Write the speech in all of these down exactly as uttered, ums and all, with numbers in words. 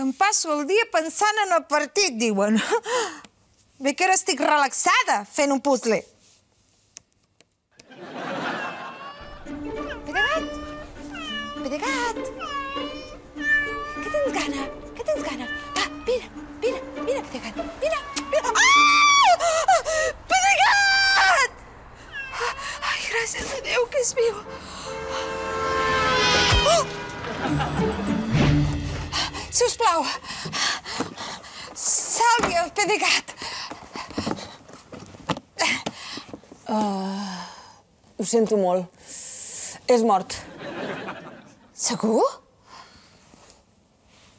Que em passo el dia pensant en el partit, diuen. Bé que ara estic relaxada fent un puzzle. Pedegat! Pedegat! Què tens gana? Què tens gana? Va, vine, vine, vine, Pedegat, vine, vine. Ah! Pedegat! Ai, gràcies a Déu que és viu. Oh! Sisplau, salvi el Pedegat. Uh, ho sento molt. És mort. Segur?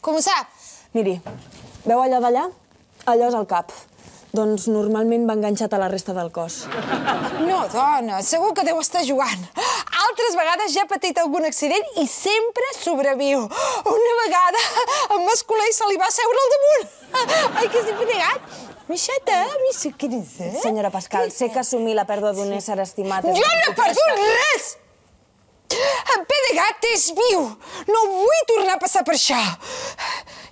Com ho sap? Miri, veu allò d'allà? Allò és el cap. Doncs normalment va enganxat a la resta del cos. No, dona, segur que deu estar jugant. Altres vegades ja ha patit algun accident i sempre sobreviu. Una vegada el masculí se li va seure al damunt. Ai, que s'hi Pedegat. Mixeta, mixa, què és, eh? Senyora Pascal, sé que assumir la pèrdua d'un ésser estimat... Jo no he perdut res! En Pedegat és viu! No vull tornar a passar per això!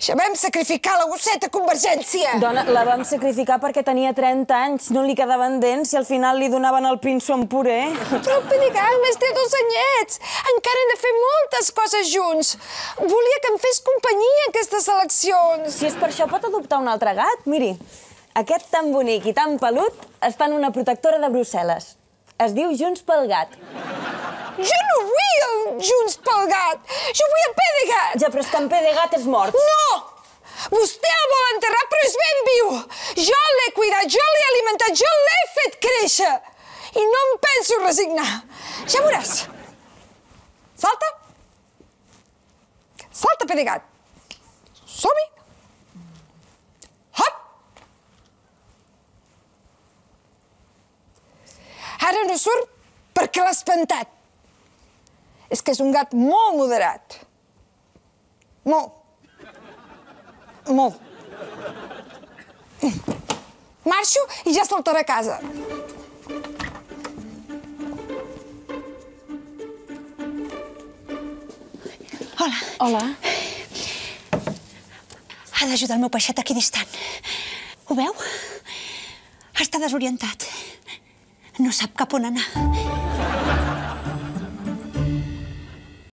Ja vam sacrificar la gosseta Convergència! Dona, la vam sacrificar perquè tenia trenta anys, no li quedaven dents i al final li donaven el pinso amb puré. Però el Pedegat només té dos anyets! Encara hem de fer moltes coses junts! Volia que em fes companyia aquestes eleccions! Si és per això, pot adoptar un altre gat? Miri, aquest tan bonic i tan pelut està en una protectora de Brussel·les. Es diu Junts pel Gat. Jo no vull el Junts pel Gat! Jo vull el Pedegat! Ja, però és que en Pedegat és mort. No! Vostè el vol enterrar, però és ben viu! Jo l'he cuidat, jo l'he alimentat, jo l'he fet créixer! I no em penso resignar. Ja veuràs. Salta. Salta, Pedegat. Som-hi. Hop! Ara no surt perquè l'ha espantat. És que és un gat molt moderat. Molt. Molt. Marxo i ja saltarà a casa. Hola. Hola. Ha d'ajudar el meu peixet aquí distant. Ho veu? Està desorientat. No sap cap on anar.